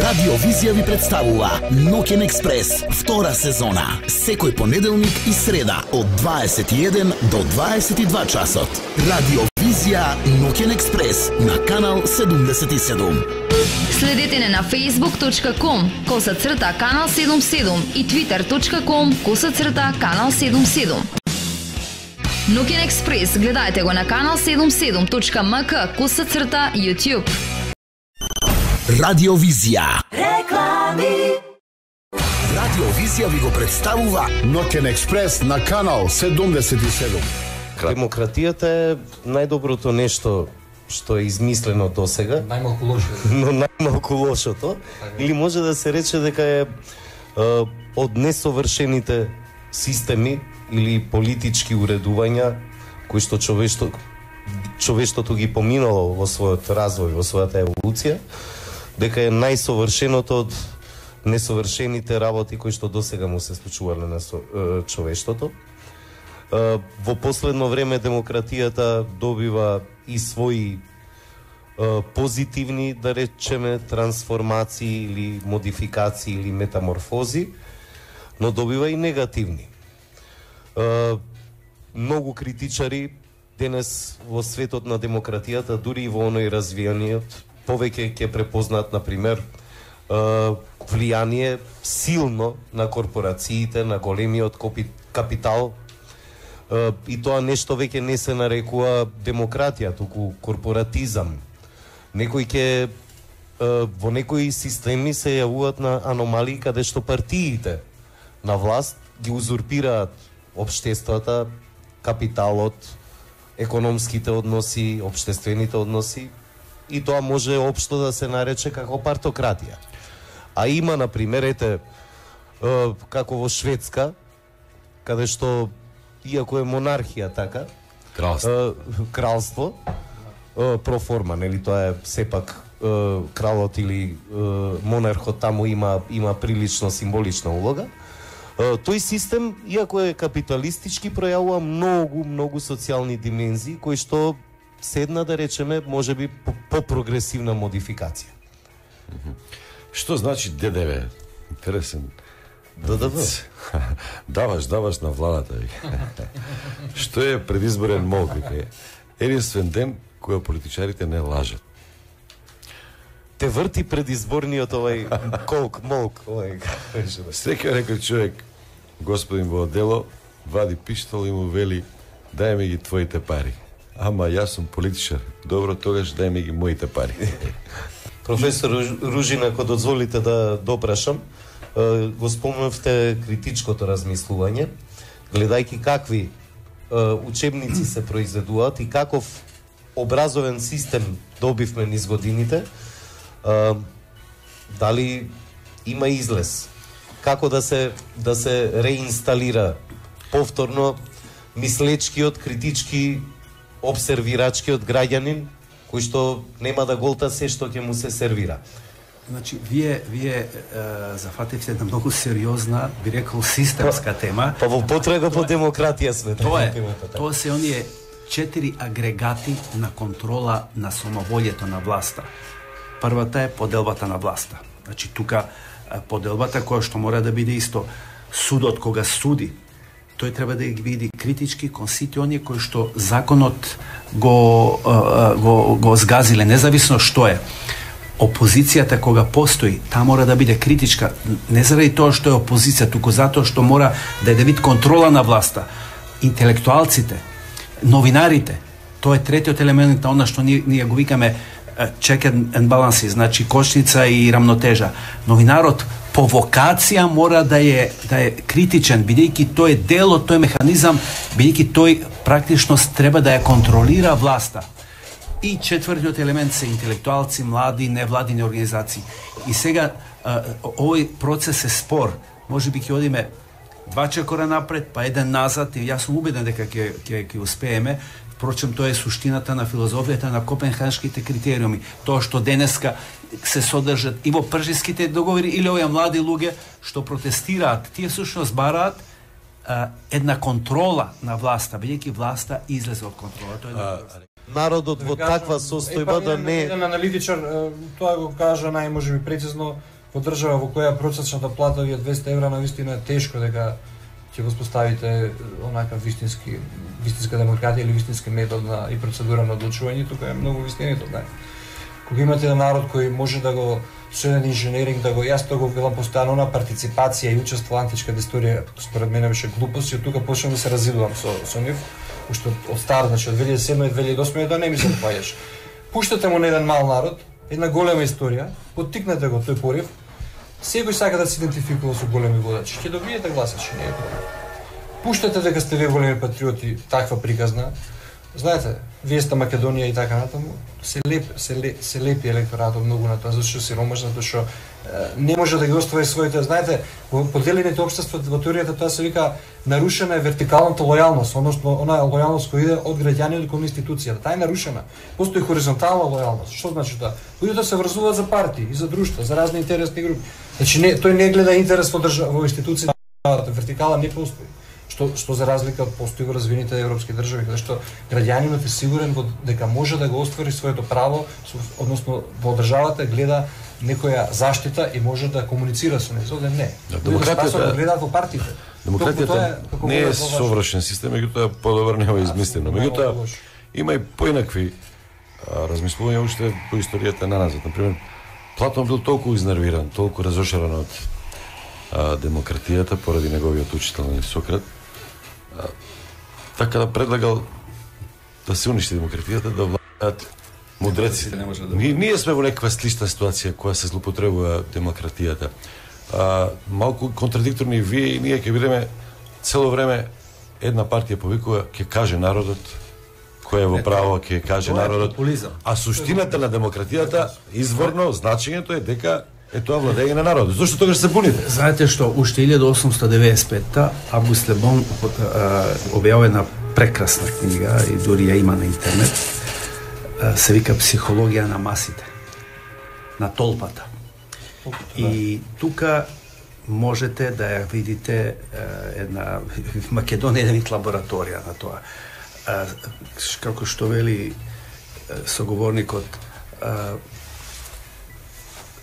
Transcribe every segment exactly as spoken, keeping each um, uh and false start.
Радио Визија ви представува Ноќен експрес, втора сезона. Секој понеделник и среда од дваесет и еден до дваесет и два часот. Радио Визија Ноќен експрес на канал седумдесет и седум. Следете не на facebook точка com коса црта канал седумдесет и седум и twitter точка com коса црта канал седумдесет и седум. Ноќен експрес гледајте го на канал седумдесет и седум точка ем ка коса црта YouTube. Радио Визија. Реклами. Радио Визија ви го представува Ноќен експрес на канал седумдесет и седум. Демократијата е најдоброто нешто што е измислено досега. Најмалку лошо. Но најмалку лошото. Или може да се рече дека е, е од несовршените системи или политички уредувања кои што човештво, човештвото ги поминало во својот развој, во својата еволуција, дека е најсовршеното од несовршените работи кои што досега му се случувале на човештвото. Во последно време демократијата добива и своји позитивни, да речеме, трансформации или модификации или метаморфози, но добива и негативни. Многу критичари денес во светот на демократијата, дури и во оној развиениот, повеќе ќе препознаат, например, влијание силно на корпорациите, на големиот капитал, и тоа нешто веќе не се нарекува демократија, туку корпоратизам. Некои ќе во некои системи се јавуваат на аномалии каде што партиите на власт ги узурпираат општествата, капиталот, економските односи, општествените односи, и тоа може општо да се нарече како партократија. А има, например, ете, како во Шведска, каде што, иако е монархија така, кралство, кралство проформа, нели, тоа е сепак кралот или монархот таму има има прилично символична улога. Тој систем, иако е капиталистички, пројавува многу, многу социјални димензии, кои што седна, да речеме, може би по-прогресивна модификација. Што значи Д Д В? Интересен. Д Д В? даваш, даваш на владата. Што е предизборен молк? Единствен ден која политичарите не лажат. Те врти предизборниот овај колк, молк, овај. Секој некој човек, господин во дело, вади пиштол и му вели: дај ми ги твоите пари. Ама јас сум политичар. Добро, тогаш дај ми ги моите пари. Професор Ружина, ако дозволите да допрашам, го спомнавте критичкото размислување, гледајќи какви учебници се произведуваат и каков образовен систем добивме низ годините, дали има излез? Како да се да се реинсталира повторно мислечкиот, критички, обсервирачкиот граѓанин, кој што нема да голта се што ќе му се сервира? Значи, вие, вие е, зафативте една многу сериозна, би рекол, системска тема. Па во потрага по демократија сме. Тоа е, тоа се оние четири агрегати на контрола на самоволјето на власта. Првата е поделбата на власта. Значи, тука поделбата која што мора да биде исто судот кога суди, тој треба да ги види критички кон сите оние кои што законот го, го, го згазиле, независно што е. Опозицијата кога постои, таа мора да биде критичка, не заради тоа што е опозиција, туку затоа што мора да е да вид контрола на власта. Интелектуалците, новинарите, тоа е третиот елемент на она што ние, ние го викаме check and balance, значи кошница и рамнотежа. Новинарот по вокација мора да е да е критичен, бидејќи тој е дел од тој механизам, бидејќи тој практично треба да ја контролира власта. И четвртиот елемент се интелектуалци, млади, невладини организации. И сега овој процес е спор. Може би ќе одиме два чекора напред, па еден назад, и јас сум убеден дека ќе ќе ќе успееме. Впрочем, тоа е суштината на филозофијата на копенхашките критериуми. Тоа што денеска се содржат и во пржиските договори или овие млади луѓе што протестираат, тие всушност бараат една контрола на власта, бидејќи власта излезе од контрола. Тоа е народот во таква состојба да не... Еден аналитичар тоа го кажа најможеби прецизно, во држава во која процечната плата е двесте евра, навистина е тешко дека ќе воспоставите онака вистински вистинска демократија или вистински метод на и процедура на одлучување, тука е многу вистинито, да. Кога имате еден народ кој може да го со еден инженеринг да го јас тоа го велам постојано на партиципација и учество во античката историја, според мене беше глупост и од тука почнам да се разидувам со со нив, уште од стар, значи од две илјади и седма и две илјади и осма да не ми се паѓаш. Пуштате му на еден мал народ, една голема историја, поттикнете го тој порив. Секој сака да се идентификува со големи водачи, ќе добиете гласачи, не е проблем. Пуштате дека сте вие големи патриоти, таква приказна. Знаете, вие сте Македонија и така натаму, се леп, се леп, се лепи електоратот многу на тоа, зашто сиромашно, затоа што не може да ги оствари своите, знаете, во поделените општества во теоријата тоа се вика нарушена е вертикалната лојалност, односно онаа лојалност која иде од граѓанинот кон институцијата. Таа е нарушена. Постои хоризонтална лојалност. Што значи тоа? Луѓето се врзуваат за партии и за друштва, за разни интересни групи. Значи не, тој не гледа интерес во држава, во институцијата, вертикала не постои. Што, што за разлика од постои во развиените европски држави, каде што граѓанинот е сигурен во, дека може да го оствари своето право, односно во државата гледа некоја заштита и може да комуницира со нејзо, овде не. Демократијата гледаат во партиите. Демократијата не е совршен систем, меѓутоа подобар нема измислено. Меѓутоа има и поинакви размислувања уште по историјата на назад. Например, Платон бил толку изнервиран, толку разошаран од демократијата поради неговиот учител Сократ, така да предлагал да се уништи демократијата, да владеат мудреците. Да ние, ние сме во некаква слична ситуација која се злоупотребува демократијата. А, малку контрадикторни вие и ние ќе бидеме цело време една партија повикува ќе каже народот кој е во право, ќе каже народот. А суштината на демократијата изворно значењето е дека е тоа владење на народот. Зошто тогаш се буните? Знаете што, уште илјада осумстотини деветдесет и петта Август Лебон објавува една прекрасна книга и дури ја има на интернет. Се вика Психологија на масите, на толпата. И тука можете да ја видите една Македонија е вид лабораторија на тоа. Како што вели соговорникот,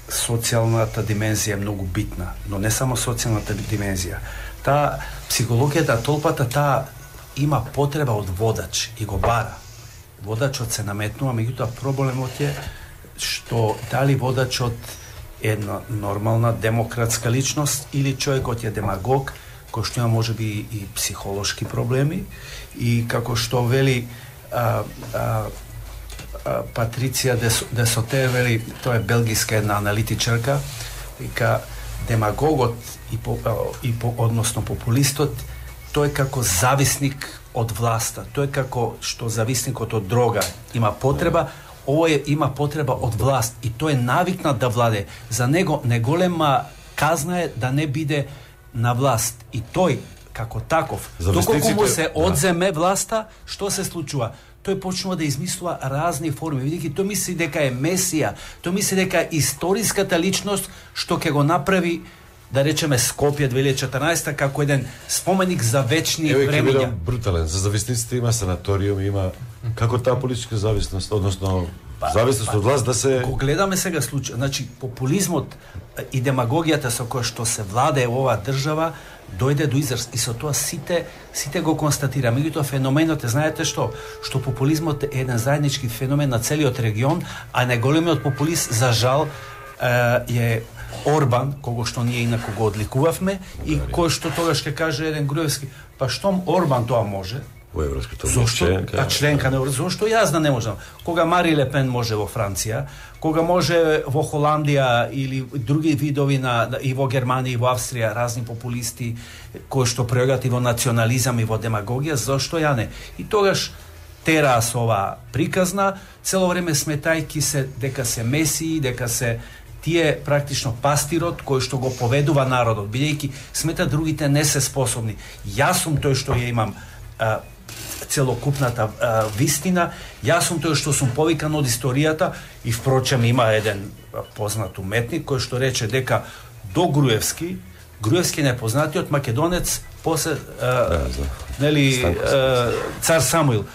социјалната димензија е многу битна, но не само социјалната димензија. Таа психологијата, толпата, таа има потреба од водач и го бара. Водачот се наметнува, меѓутоа проблемот е што дали водачот е една нормална демократска личност или човекот е демагог, кој што има можеби и психолошки проблеми и како што вели а, а, Патриция Десоте, вели, тоа е белгиска една аналитичарка, вика демагогот и, по, и по, односно популистот, тој е како зависник од власта, тој е како што зависникот од дрога има потреба, овој има потреба од власт и тој е навикнат да владе. За него неголема казна е да не биде на власт и тој како таков, доколку му се одземе власта, што се случува? Тој почнува да измислува разни форми. Видите, тој мисли дека е месија, тој мисли дека е историската личност што ќе го направи, да речеме, Скопје две илјади и четрнаесетта како еден споменик за вечни времиња. Еве ќе бидам брутален. За зависниците има санаториум, има како таа политичка зависност, односно па, зависност па, од власт да се... Го гледаме сега случај. Значи, популизмот и демагогијата со која што се владее оваа држава дојде до израз и со тоа сите сите го констатира. Меѓутоа феноменот е, знаете што, што популизмот е еден заеднички феномен на целиот регион, а најголемиот популист за жал е Орбан, кого што ние инаку го одликувавме и кој што тогаш ќе каже еден Груевски, па штом Орбан тоа може, во Европската членка, а членка на Европската, зошто јас да не можам? Кога Мари Ле Пен може во Франција, кога може во Холандија или други видови на и во Германија и во Австрија разни популисти кои што пројават и во национализам и во демагогија, зошто ја не? И тогаш тераа со ова приказна, цело време сметајки се дека се месии, дека се тие практично пастирот кој што го поведува народот, бидејќи смета другите не се способни. Јас сум тој што ја имам а, целокупната а, вистина, јас сум тој што сум повикан од историјата и впрочем има еден познат уметник кој што рече дека до Груевски, Груевски непознатиот македонец, после а, да, нели а, цар Самуил.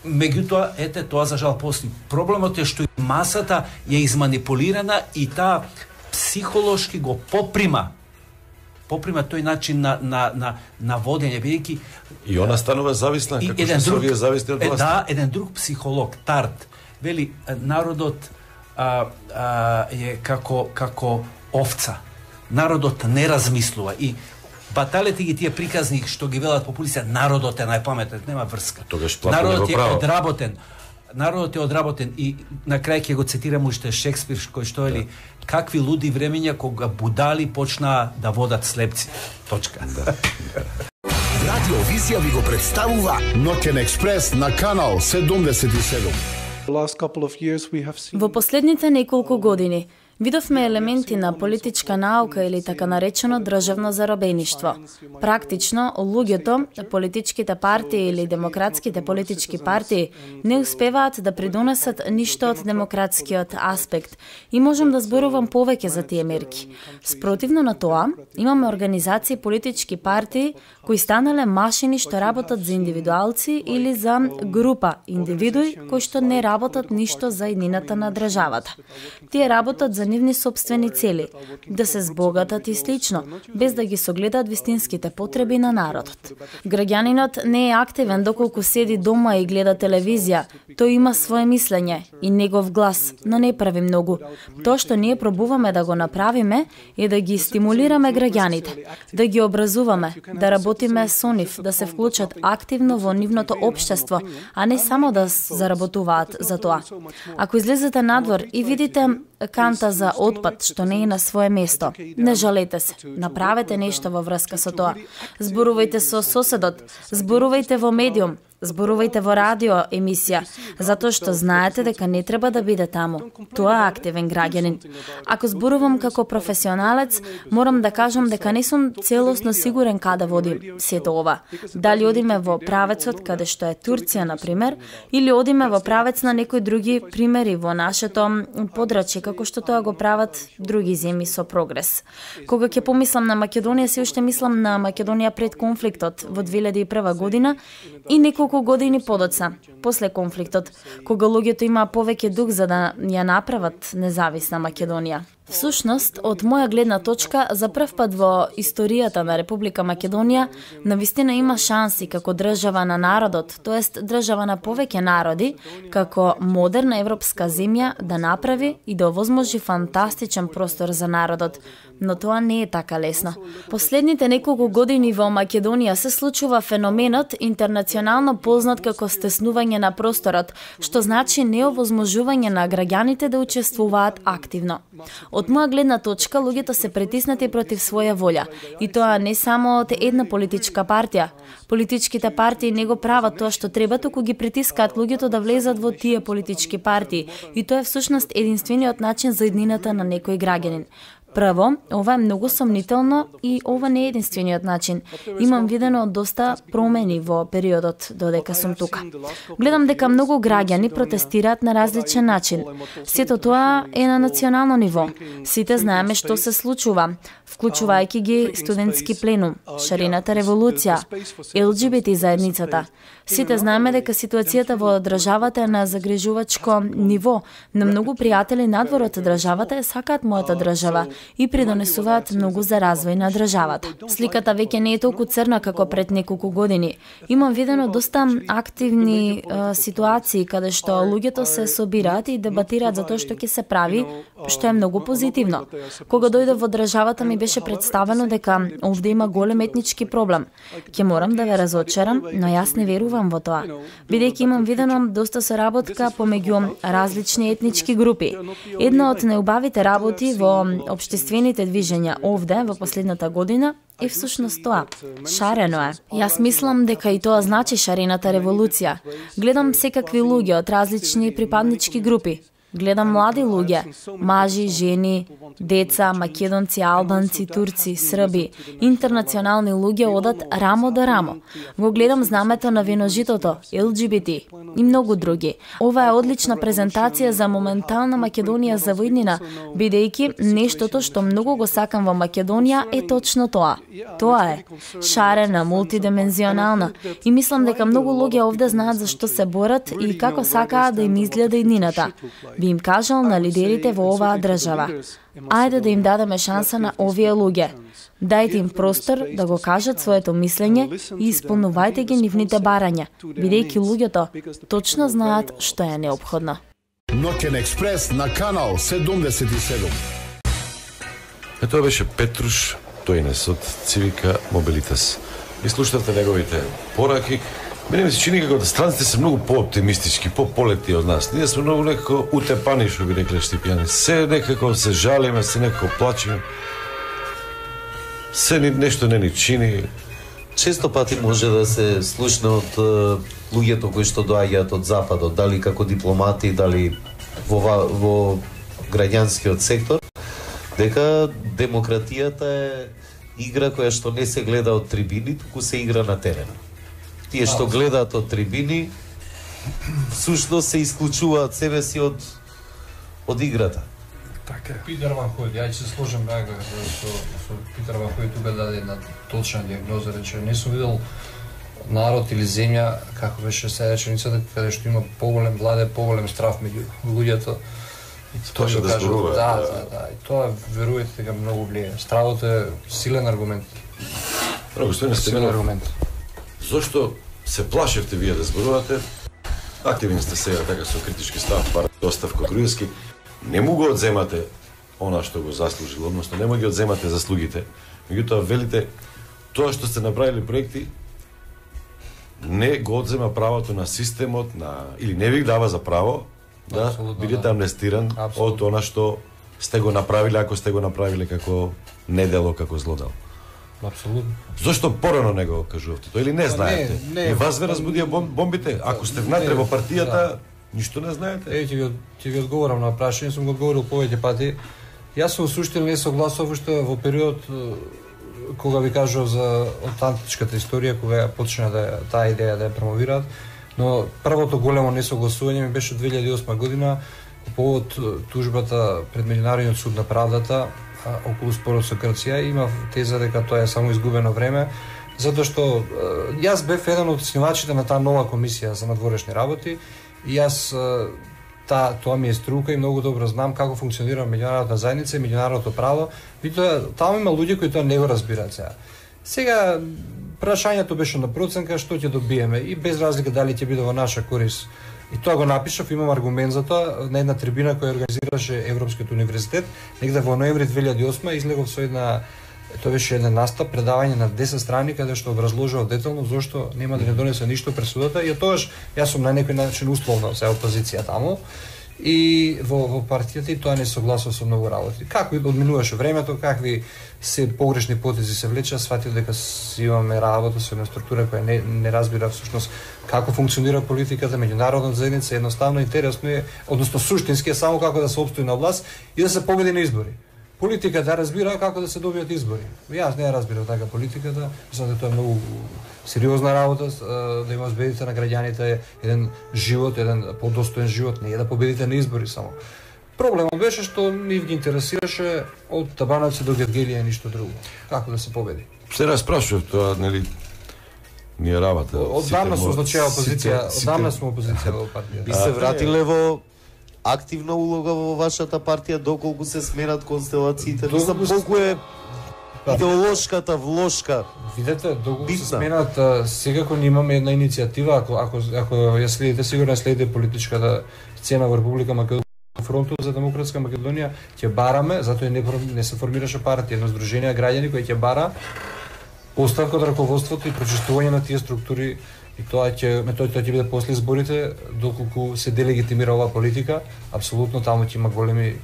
Меѓутоа, ете, тоа за жал постои. Проблемот е што и масата е изманипулирана и таа психолошки го поприма поприма тој начин на на на на водење, бидејќи и она станува зависна, како што се овие зависни од власт. Да, еден друг психолог, Тарт, вели народот а, а, е како како овца. Народот не размислува и баталите ги тие приказни што ги велат популистите, народот е најпаметен, нема врска. Народот е одработен. Народот е одработен и на крај ќе го цитирам уште Шекспир кој што вели какви луди времења кога будали почнаа да водат слепци. Точка. Да. Радио Визија ви го представува Ноќен експрес на канал седумдесет и седум. Во последните неколку години видовме елементи на политичка наука или така наречено државно заробеништво. Практично, луѓето, политичките партии или демократските политички партии не успеваат да придонесат ништо од демократскиот аспект и можам да зборувам повеќе за тие мерки. Спротивно на тоа, имаме организации политички партии кои станале машини што работат за индивидуалци или за група индивидуи кои што не работат ништо за иднината на државата. Тие работат за нивни сопствени цели, да се збогатат и слично, без да ги согледаат вистинските потреби на народот. Граѓанинот не е активен доколку седи дома и гледа телевизија, тој има свое мислење и негов глас, но не прави многу. Тоа што ние пробуваме да го направиме е да ги стимулираме граѓаните, да ги образуваме, да работиме со нив, да се вклучат активно во нивното општество, а не само да заработуваат за тоа. Ако излезете надвор и видите канта за отпад што не е на свое место, не жалете се. Направете нешто во врска со тоа. Зборувајте со соседот, зборувајте во медиум, зборувајте во радио емисија, затоа што знаете дека не треба да биде таму. Тоа е активен граѓанин. Ако зборувам како професионалец, морам да кажам дека не сум целосно сигурен каде води сето ова. Дали одиме во правецот каде што е Турција, на пример, или одиме во правец на некои други примери во нашето подрачје, како што тоа го прават други земји со прогрес. Кога ќе помислам на Македонија, се уште мислам на Македонија пред конфликтот во две илјади и прва година и неколку години подоцна, после конфликтот, кога луѓето имаа повеќе дух за да ја направат независна Македонија. Всушност, од моја гледна точка, за прв пат во историјата на Република Македонија, навистина има шанси како држава на народот, тоест држава на повеќе народи, како модерна европска земја да направи и да овозможи фантастичен простор за народот. Но тоа не е така лесно. Последните неколку години во Македонија се случува феноменот интернационално познат како стеснување на просторот, што значи неовозможување на граѓаните да учествуваат активно. Од моја гледна точка, луѓето се притиснати против своја волја, и тоа не само од една политичка партија. Политичките партии не го прават тоа што треба, туку ги притискаат луѓето да влезат во тие политички партии, и тоа е всушност единствениот начин за иднината на некој граѓанин. Прво, ова е многу сомнително и ова не е единствениот начин. Имам видено доста промени во периодот додека сум тука. Гледам дека многу граѓани протестираат на различен начин. Сето тоа е на национално ниво. Сите знаеме што се случува, вклучувајќи ги студентски пленум, шарената револуција, Ел Џи Би Ти заедницата. Сите знаеме дека ситуацијата во државата е на загрижувачко ниво. На многу пријатели надвор од државата е сакаат мојата држава и придонесуваат многу за развој на државата. Сликата веќе не е толку црна како пред неколку години. Имам видено доста активни е, ситуации каде што луѓето се собираат и дебатираат за тоа што ќе се прави, што е многу позитивно. Кога дојдов во државата ми беше представено дека овде има голем етнички проблем. Ќе морам да ве разочарам, но јас не верувам во тоа, бидејќи имам видено доста соработка помеѓу различни етнички групи. Една од најубавите работи во општествените движења овде во последната година е всушност тоа. Шарено е. Јас мислам дека и тоа значи шарената револуција. Гледам секакви луѓе од различни припаднички групи. Гледам млади луѓе, мажи, жени, деца, македонци, албанци, турци, срби, интернационални луѓе одат рамо до рамо. Го гледам знамето на виножитото, Ел Џи Би Ти и многу други. Ова е одлична презентација за моментална Македонија за војнина, бидејќи нештото што многу го сакам во Македонија е точно тоа. Тоа е шарена, мултидимензионална и мислам дека многу луѓе овде знаат за што се борат и како сакаат да им изгледа иднината. би им кажал на лидерите во оваа држава: ајде да им дадеме шанса на овие луѓе. Дајте им простор да го кажат своето мислење и исполнувајте ги нивните барања, бидејќи луѓето точно знаат што е неопходно. Ноќен експрес на канал седумдесет и седум. Е, тоа беше Петруш Тојнес од Цивика Мобилитас. И слушате неговите пораки. Мене ми се чини како да странците се многу по-оптимистички, по-полети од нас. Ние сме многу некако утепани, што би рекле Штипјани. Се некако се жалиме, се некако плачеме. Се ни, нешто не ни чини. Често пати може да се слушне од uh, луѓето кои што доаѓаат од западот, дали како дипломати, дали во, во граѓанскиот сектор, дека демократијата е игра која што не се гледа од трибини, туку се игра на терен. Тие што гледаат од трибини, всушност се исклучуваат себе си од од играта. Така. Питер Ван Хојд, ја ќе се сложам дека со, со Питер Ван Хојд тука даде една точна диагноза, рече, не сум видел народ или земја, како беше сега реченицата, каде што има поголем владе, поголем страв меѓу луѓето. Тоа што да зборува. Да, да, да, и тоа верувајте дека многу влијае. Стравот е силен аргумент. Много што не сте силен аргумент. Зошто се плашевте вие да зборувате? Активни сте сега така со критички став, пар достав Кокруевски. Не му го одземате она што го заслужил, односно не му ги одземате заслугите. Меѓутоа велите тоа што сте направили проекти не го одзема правото на системот, на или не ви дава за право да Абсолютно, бидете да. амнестиран Абсолютно. од она што сте го направиле, ако сте го направиле како недело, како злодел. Апсолутно. Зошто порано не го кажувате тоа или не знаете? Не, не, и вас ве разбудија бом, бомбите? Ако сте внатре во партијата, да. ништо не знаете? Е, ќе ви, ќе ви одговорам на прашање, сум го одговорил повеќе пати. Јас сум суштина не согласов уште во период кога ви кажав за аутентичката историја, кога почна да таа идеја да ја промовираат, но првото големо несогласување ми беше две илјади и осма година по повод тужбата пред Меѓународниот суд на правдата околу спорот со Грција. Има теза дека тоа е само изгубено време, затоа што јас бев еден од основачите на таа нова комисија за надворешни работи и јас та, тоа ми е струка и многу добро знам како функционира меѓународната заедница и меѓународното право. Видите, таму има луѓе кои тоа не го разбираат сега. Сега прашањето беше на проценка што ќе добиеме и без разлика дали ќе биде во наша корис. И тоа го напишав, имам аргумент за тоа, на една трибина која организираше Европскиот универзитет, негде во ноември две илјади и осма излегов со една, тоа беше една настап, предавање на десет страни, каде што образложував детално зошто нема да не донесе ништо пресудата, и тогаш јас сум на некој начин условно се опозиција таму, и во, во партијата и тоа не согласува со многу работи. Како одминуваше времето, какви се погрешни потези се влеча, сватив дека си имаме работа со една структура која не, не разбира всушност како функционира политиката, меѓународната заедница, едноставно интересно е, односно суштински е само како да се опстои на власт и да се победи на избори. Политиката да разбира како да се добијат избори. Јас не ја разбирам така политиката, мислам дека тоа е многу сериозна работа, да има збедите на граѓаните еден живот, еден подостоен живот, не е да победите на избори само. Проблемот беше што нив ги интересираше од Табановци до Гергелија и ништо друго. Како да се победи? Се распрашував тоа, нели, ние работа. Оддавна сум значеја опозиција, оддавна сум опозиција во партија. Би се вратиле во активна улога во вашата партија доколку се сменат констелациите? Мислам, колку е идеолошката влошка. Видете, доколку се сменат, секако имаме една иницијатива, ако ако ако ја следите, сигурно следите политичката сцена во Република Македонија, Фронтот за демократска Македонија, ќе бараме, затоа не не се формираше партија, едно здружение граѓани кои ќе бара оставка од раководството и прочистување на тие структури. И тоа ќе методите тоа ќе биде после изборите, доколку се делегитимира оваа политика, апсолутно таму ќе има големи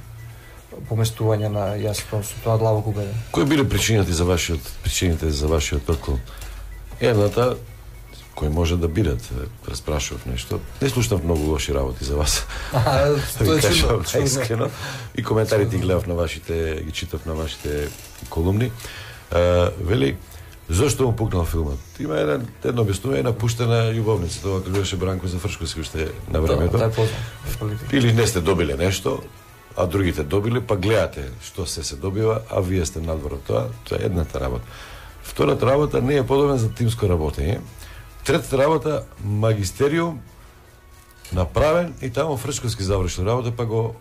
поместувања на јас со тоа длабоко убеден. Кои биле причините за вашиот причините за вашиот отклон? Едната кој може да бидат, распрашував нешто. Не слушнав многу лоши работи за вас. А, тоа е чудно. И коментарите ги гледав на вашите, ги читав на вашите колумни. Uh, вели, зошто му пукнал филмот? Има еден, едно објаснување на пуштена љубовница, тоа кога беше Бранко Зафршковски уште на времето. Да, да, или не сте добиле нешто, а другите добиле, па гледате што се се добива, а вие сте надвор од тоа. Тоа е едната работа. Втората работа не е подобен за тимско работење. Третата работа, магистериум направен и таму Фрчковски завршил работа, па го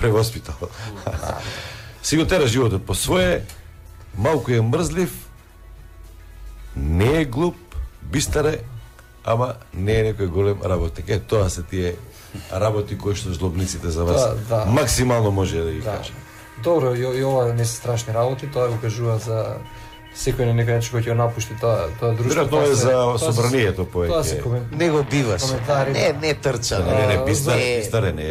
превоспитал. Си го тера животот по свое, малку е мрзлив, не е глуп, бистар е, ама не е некој голем работник. Е, тоа се тие работи кои што жлобниците за вас да, да. максимално може да ги да. кажа. Добро, и, и ова не се страшни работи, тоа го кажува за секој на некој начин кој ќе напушти тоа тоа друштво. Веројатно е за собранието повеќе. Тоа се комент... Не го биваш. Не, не трча. Не, не, не, бистар, не, бистар е, не,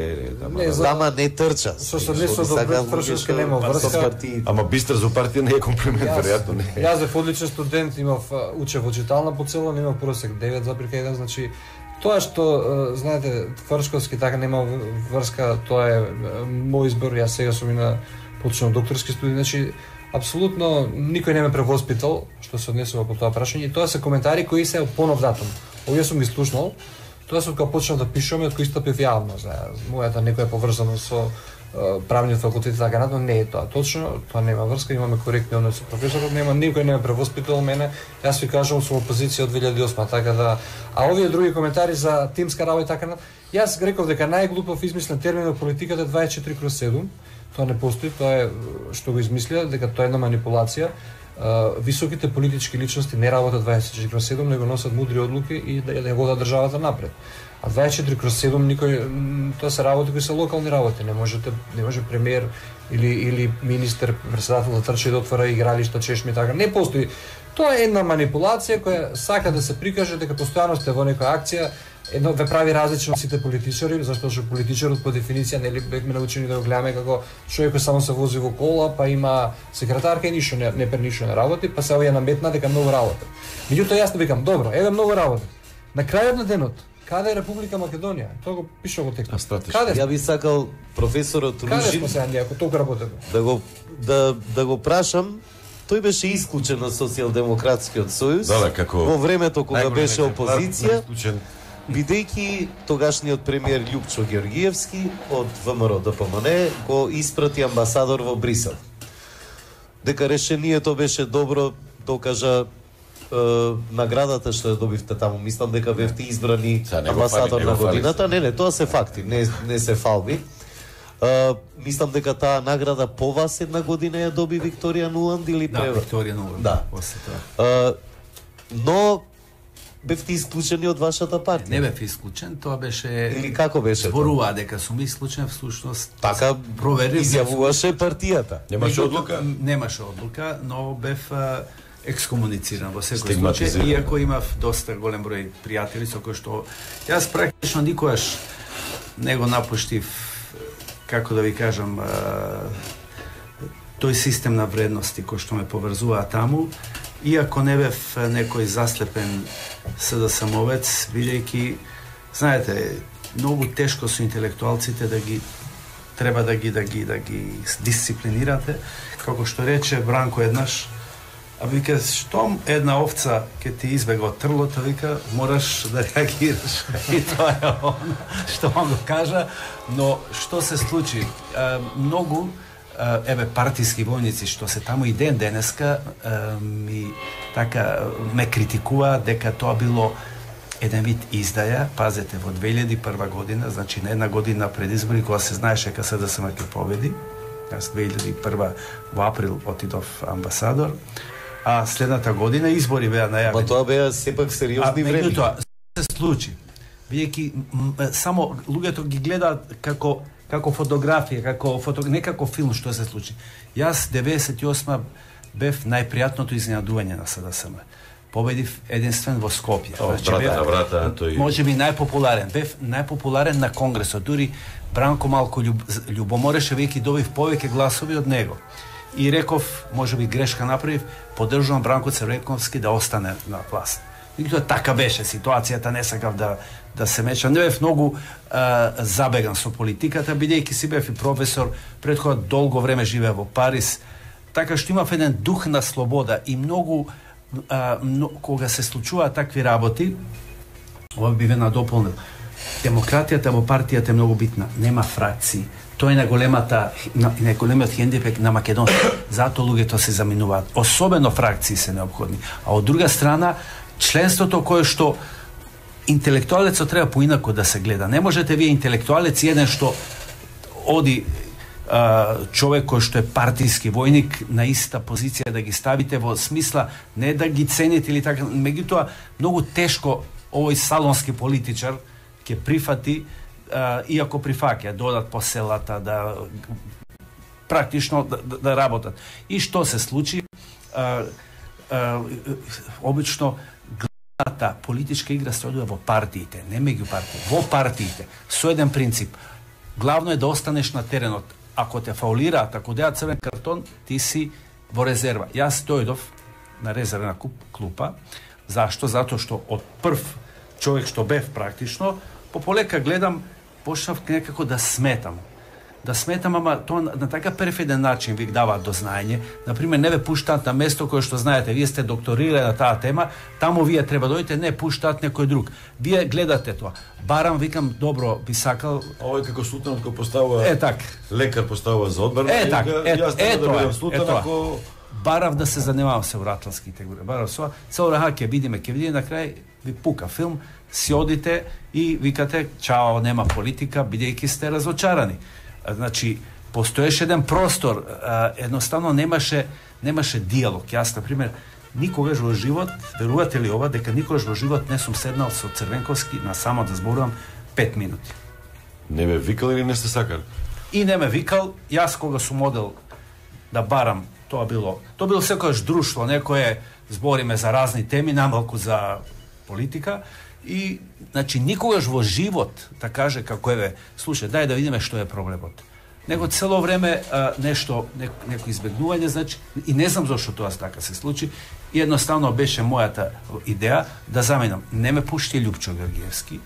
не, за... Дама не трча. Со сооднесот до Фрчковски нема врска. Ама бистар за партија не е комплимент, веројатно не. Јас бев одличен студент, имав учев во читална по цело, имав просек девет запирка еден, значи тоа што знаете Фрчковски така нема врска, тоа е мој избор, јас сега сум и на почнав докторски студии, значи апсолутно никој не ме превоспитал што се однесува по тоа прашање. И тоа се коментари кои се понов датум. Овие сум ги слушнал. Тоа се кога почнав да пишувам и од кои стапив јавно, знаеш. Мојата некоја поврзано со правниот факултет и така натаму, не е тоа точно, тоа нема врска, имаме коректни односи со професорот, нема никој не ме превоспитал мене. Јас ви кажувам сум опозиција од две илјади и осма, така да, а овие други коментари за тимска работа и така натаму, јас реков дека најглупав измислен термин во политиката е дваесет и четири кроз седум. Тоа не постои, тоа е што го измислија, дека тоа е една манипулација. Високите политички личности не работат дваесет и четири кроз седум, него носат мудри одлуки и да ја водат државата напред. А дваесет и четири кроз седум никој, тоа се работи кои се локални работи, не можете, не може премиер или или министер, претседател да трчи да отвора игралишта, чешми така, не постои. Тоа е една манипулација која сака да се прикаже дека постојано сте во некоја акција. Едно ве прави различно од сите политичари, зашто што политичарот по дефиниција нели бевме научени да го гледаме како човек кој само се вози во кола, па има секретарка и ништо не не пер ништо не работи, па се овие наметна дека многу работи. Меѓутоа јас викам, добро, еве многу работи. На крајот на денот, каде е Република Македонија? Тоа го пише во текстот. Каде? Ја би сакал професорот Ружин. Каде сме сега ние ако толку работиме? Да го да да го прашам. Тој беше исклучен од Социјалдемократскиот сојуз. Да, да, како во времето кога беше опозиција. Бидејќи тогашниот премиер Љупчо Георгиевски од ВМРО Д П М Н го испрати амбасадор во Брисел. Дека решението беше добро, докажа е, наградата што ја добивте таму. Мислам дека бевте избрани амбасадор на годината. Не, не, тоа се факти, не, не се фалби. Е, мислам дека таа награда по вас една година ја доби Викторија Нуланд или да, превр... Викторија Нуланд. Да. Е, но бевте исклучени од вашата партија? Не бев исклучен, тоа беше... Или како беше? Зборува дека сум исклучен, всушност... Така проверив... изјавуваше партијата. Немаше одлука? Немаше одлука, но бев екскомунициран во секој случај, иако имав доста голем број пријатели со кои што... Јас практично никогаш не го напуштив, како да ви кажам, тој систем на вредности кој што ме поврзуваа таму, иако не бев некој заслепен СДСМовец, бидејќи, знаете, многу тешко со интелектуалците да ги треба да ги да ги да ги дисциплинирате, како што рече Бранко еднаш, а вика штом една овца ќе ти избега од трлото, вика мораш да реагираш. И тоа е она што он го кажа, но што се случи? А, многу еве партиски војници што се таму и ден денеска ми така ме критикува дека тоа било еден вид издаја, пазете, во две илјади и прва година, значи на една година пред избори кога се знаеше дека СДСМ ќе победи. Јас две илјади и прва во април отидов амбасадор, а следната година избори беа најавени. Ма тоа беа сепак сериозни време. Тоа се случи. Бидејќи само луѓето ги гледаат како како фотографија, како фото... не како филм што се случи. Јас деветдесет и осма бев најпријатното изненадување на СДСМ. Победив единствен во Скопје. О, значи, брата, бев, брата, тој... може би најпопуларен. Бев најпопуларен на конгресот. Дури Бранко малку љуб... љубомореше, веќе добив повеќе гласови од него. И реков, може би грешка направив, поддржувам Бранко Црвенковски да остане на власт. И тоа така беше ситуацијата, не сакав да да се мечам. Не бев многу а, забеган со политиката, бидејќи си бев и професор, пред кога долго време живеа во Париз, така што имав еден дух на слобода и многу, а, но, кога се случуваат такви работи, ова би ве надополнил. Демократијата во партијата е многу битна, нема фракции. Тоа е најголемата најголемиот хендипек на Македонија. Затоа луѓето се заминуваат. Особено фракции се необходни. А од друга страна, членството кое што интелектуалецот треба поинако да се гледа. Не можете вие интелектуалец еден што оди а, човек кој што е партиски војник на иста позиција да ги ставите во смисла не да ги цените или така, меѓутоа многу тешко овој салонски политичар ќе прифати, а, иако прифаќа, додат по селата, да практично да, да, да работат. И што се случи? А, а, обично главната политичка игра се одува во партиите, не меѓу партии, во партиите, со еден принцип. Главно е да останеш на теренот. Ако те фаулираат, ако деат црвен картон, ти си во резерва. Јас дојдов на резервна клупа. Зашто? Затоа што од прв човек што бев практично, по полека гледам, почнав некако да сметам. Да сметам, ама тоа на така перфиден начин ви даваат до знаење. Например, не ве пуштаат на место кое што знаете, вие сте докторирали на таа тема, таму вие треба дојдете, не пуштаат некој друг. Вие гледате тоа. Барам, викам, добро, би сакал... Овој како Султанот кој поставува... Е, так. Лекар поставува за одбрана. Е, так. Е, јас е, да бидам Султан, ако... Барав да се занимавам се вратланските игри. Барав со, со раха ќе видиме, ќе видиме, на крај ви пука филм, си одите и викате, чао, нема политика, бидејќи сте разочарани. Значи, постоеше еден простор, а, едноставно немаше немаше диалог. Јас, на пример, никогаш во живот, верувате ли ова, дека никогаш во живот не сум седнал со Црвенковски на само да зборувам пет минути. Не ме викал или не сте сакали? И не ме викал, јас кога сум одел да барам, тоа било, тоа било секојаш друштво, некое збориме за разни теми, намалку за политика, и, значи, никогаш во живот да каже како еве, слушај, дај да видиме што е проблемот. Него цело време а, нешто, не, неко избегнување, значи, и не знам зошто тоа така се случи, и едноставно беше мојата идеја да заменам. Не ме пушти Лјупчо Георгиевски,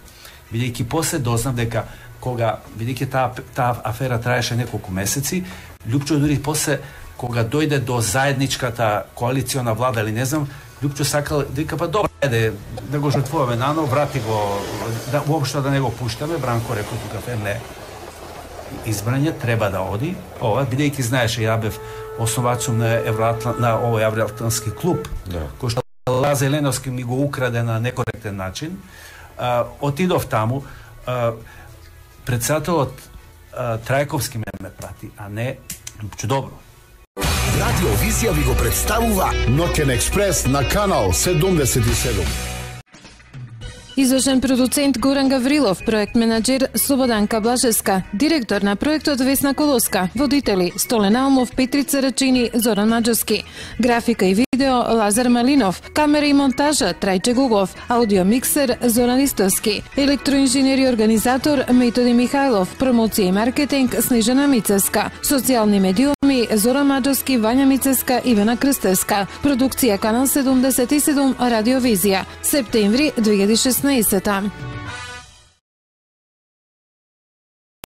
бидејќи после дознав дека кога, бидејќи таа таа афера траеше неколку месеци, Лјупчо дури после кога дојде до заедничката коалициона влада или не знам, Лјупчо сакал да вика, па добро, еде, да го жртвуваме нано, врати го, да, уопшто да не го пуштаме. Бранко рекол тука, не, избрање треба да оди. Ова, бидејќи знаеше, ја бев основачом на Евроатлан, на овој Евроатлански клуб, да, кој што Лазе Леновски ми го украде на некоректен начин. А, отидов таму, а, председателот а, Трајковски ме ме прати, а не Лјупчо. Добро. Радио Визија ви го представува Ноќен експрес на канал седумдесет и седум. Извршен продуцент Горан Гаврилов, проект менаџер Слободанка Блажеска, директор на проектот Весна Колоска, водители Столен Алмов, Петрица Рачини, Зоран Маџарски, графика и видео Лазар Малинов, камера и монтажа Трајче Гугов, аудио миксер Зоран Истовски, електроинженер и организатор Методи Михајлов, промоција и маркетинг Снежана Мицевска, социјални медиуми Зоран Маџарски, Вања Мицевска, Ивана Крстевска, продукција Канал седумдесет и седум, Радио Визија, септември две илјади и шеснаесета.